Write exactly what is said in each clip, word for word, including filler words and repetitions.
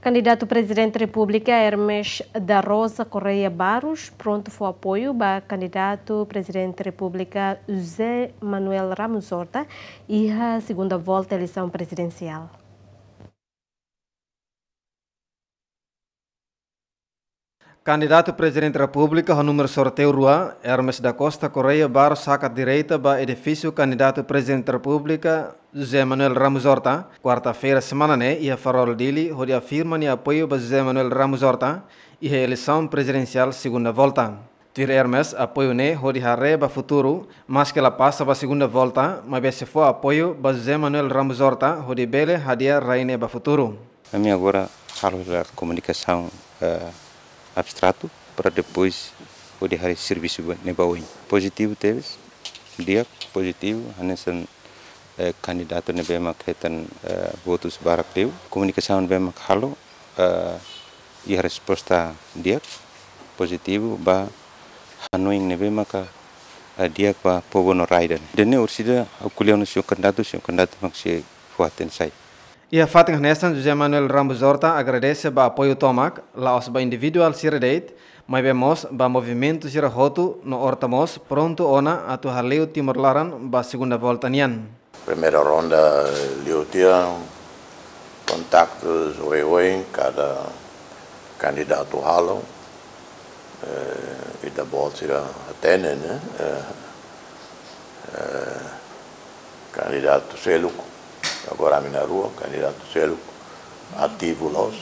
Kandidatu Prezidente Repúblika Hermes da Rosa Correia Barros prontu fó apoiu ba kandidatu Prezidente Repúblika José Manuel Ramos Horta iha segunda volta eleisaun prezidensiál. Kandidatu Prezidente Repúblika ho númeru sorteiu rua, Hermes da Costa Correia Barros hakat direta ba edifísiu kandidatu Prezidente Repúblika José Manuel Ramos Horta, kuarta-feira semana ne'e iha Farol Dili, hodi afirma nia apoiu ba José Manuel Ramos Horta iha eleisaun prezidensiál segunda volta. Tuir Hermes, apoiu ne'e hodi haree ba futuru, maske la pasa ba segunda volta, maibé sei fó apoiu ba José Manuel Ramos Horta hodi bele hadi'a rai ne'e ba futuru. Ami agora halo hela komunikasaun, eh, abstratu para depois hodi haree servisu ba, ne'ebá oin. Pozitivu tebes, di'ak, pozitivu, hanesan, eh, kandidatu ne'ebé mak hetan, eh, votus barak liu. Komunikasaun ne'ebé mak halo, eh, iha resposta di'ak, pozitivu, ba hanoin ne'ebé maka, eh, di'ak ba povu no rai ida-ne'e. Ida-ne'e orsida ha'u ko'alia ona señór kandidatu, señór kandidatu mak sei fó-hatene sai. Iha fatin hanesan, José Manuel Ramos Horta agradese ba apoiu tomak, la'ós ba individuál sira de'it, maibé mós ba movimentu sira hotu no Horta mós prontu ona atu hale'u Timor laran ba segunda volta nian. Primeira ronda, eh, liu tiha kontaktus oioin kada kandidatu halo, eh, ita-boot sira hatene, ne'e, eh, eh, kandidatu seluk, agora ami na'in-rua, kandidatu seluk ativu loos,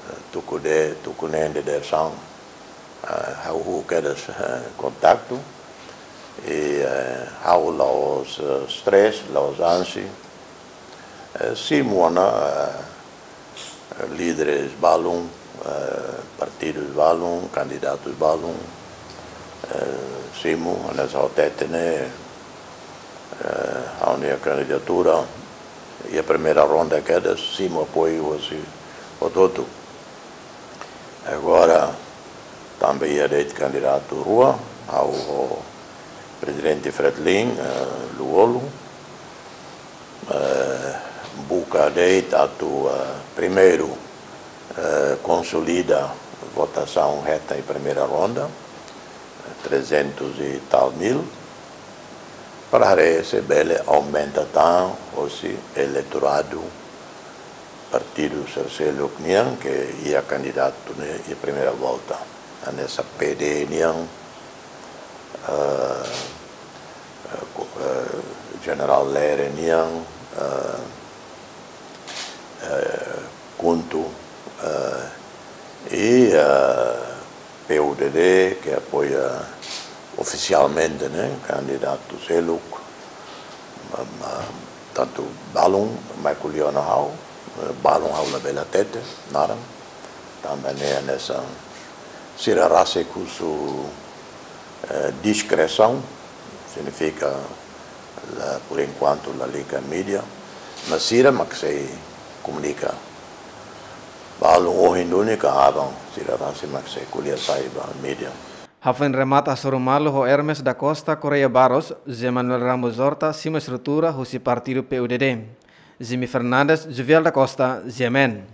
eh, tuku de, tuku neen dadeer-saan, eh, ha'u halo kedas, eh, kontaktu, i, eh, ha'u la'ós, eh, stress, la'ós ansi, eh, simu ona, eh, líderes balun, eh, partidus balun, kandidatus balun, eh, simu, hanesan hateten ne'e, eh, ha'u-nia kandidatura, iha primeira ronda kedas, simu apoiu hosi hotu-hotu. Agora, tanba iha de'it kandidatu rua, ha'u ho Prezidente Fretilin, eh, Lú-Olo, eh, buka de'it atu, eh, primeiru, eh, konsolida votasaun hetan iha primeira ronda, eh, trezentus e tal mil, para haree se bele aumenta tan hosi eleitoradu partidu sira seluk nian ke iha kandidatu ne'e iha primeira volta. Hanesan P D nian, eh, eh, ko-, eh, Jenerál Lere nian, eh, eh, KHUNTO, eh, i, eh, P U D D, ke apoia ofisialmente, ne'e, kandidatu seluk, ma, ma, tantu balun, mai ko'alia ona ha'u, eh, balun ha'u labele hatete naran, tanba ne'e hanesan sira rasik husu, eh, diskresaun, signifika la, por enkuantu lalika mídia, mas sira mak sei komunika. Balun ohin duni ka aban, sira rasik mak sei ko'alia sai ba mídia. Hafoin remata hasoru malu ho Hermes da Costa Correia Barros, José Manuel Ramos Horta simu estrutura husi partidu P U D D. Jimmy Fernandes, Juvial da Costa, G M N.